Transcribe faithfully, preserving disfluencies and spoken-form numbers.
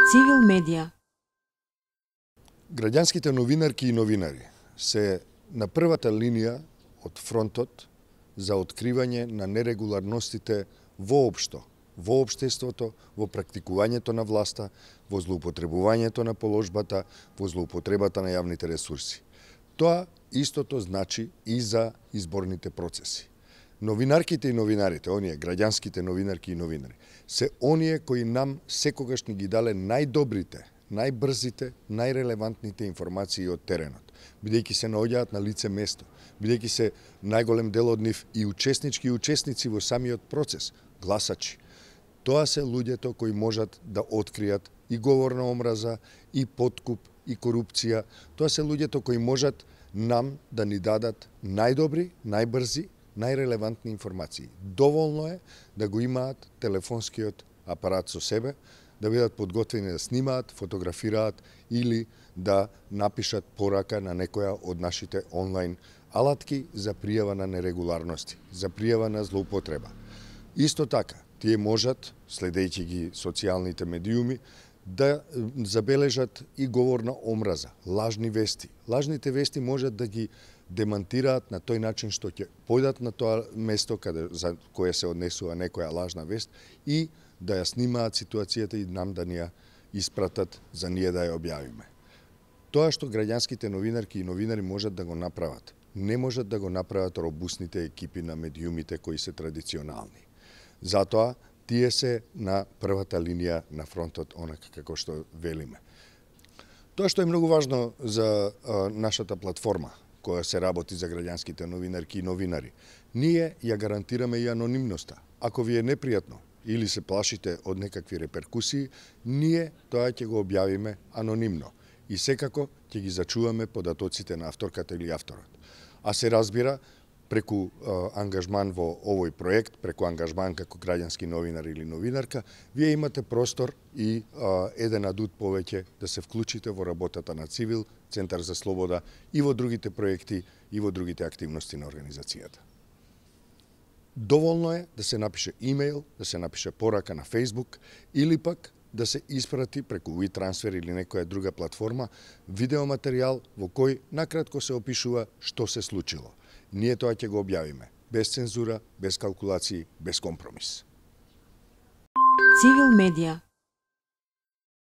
Цивил медија. Граѓанските новинарки и новинари се на првата линија од фронтот за откривање на нерегуларностите воопшто, во општеството, во практикувањето на власта, во злоупотребувањето на положбата, во злоупотребата на јавните ресурси. Тоа истото значи и за изборните процеси. Новинарките и новинарите, оние граѓанските новинарки и новинари, се оние кои нам секогаш ни ги дале најдобрите, најбрзите, најрелевантните информации од теренот, бидејќи се наоѓаат на лице место, бидејќи се најголем дел од нив и учеснички и учесници во самиот процес, гласачи. Тоа се луѓето кои можат да откријат и говор на омраза, и подкуп, и корупција. Тоа се луѓето кои можат нам да ни дадат најдобри, најбрзи, најрелевантни информации. Доволно е да го имаат телефонскиот апарат со себе, да бидат подготвени да снимаат, фотографираат или да напишат порака на некоја од нашите онлайн алатки за пријава на нерегуларности, за пријава на злоупотреба. Исто така, тие можат, следејќи ги социјалните медиуми, да забележат и говор на омраза, лажни вести. Лажните вести можат да ги демантираат на тој начин што ќе појдат на тоа место каде за кое се однесува некоја лажна вест и да ја снимаат ситуацијата и нам да ни ја испратат за ние да ја објавиме. Тоа што граѓанските новинарки и новинари можат да го направат, не можат да го направат робусните екипи на медиумите кои се традиционални. Затоа тие се на првата линија на фронтот, онака како што велиме. Тоа што е многу важно за а, нашата платформа, која се работи за граѓанските новинарки и новинари, ние ја гарантираме и анонимноста. Ако ви е непријатно или се плашите од некакви реперкусии, ние тоа ќе го објавиме анонимно и секако ќе ги зачуваме податоците на авторката или авторот. А се разбира, преку а, ангажман во овој проект, преку ангажман како граѓански новинар или новинарка, вие имате простор и а, еден адут повеќе да се вклучите во работата на Цивил, Центар за слобода и во другите проекти и во другите активности на организацијата. Доволно е да се напише имејл, да се напише порака на Facebook или пак да се испрати преку WeTransfer или некоја друга платформа видеоматеријал во кој накратко се опишува што се случило. Ние тоа ќе го објавиме, без цензура, без калкулации, без компромис. Цивил медија.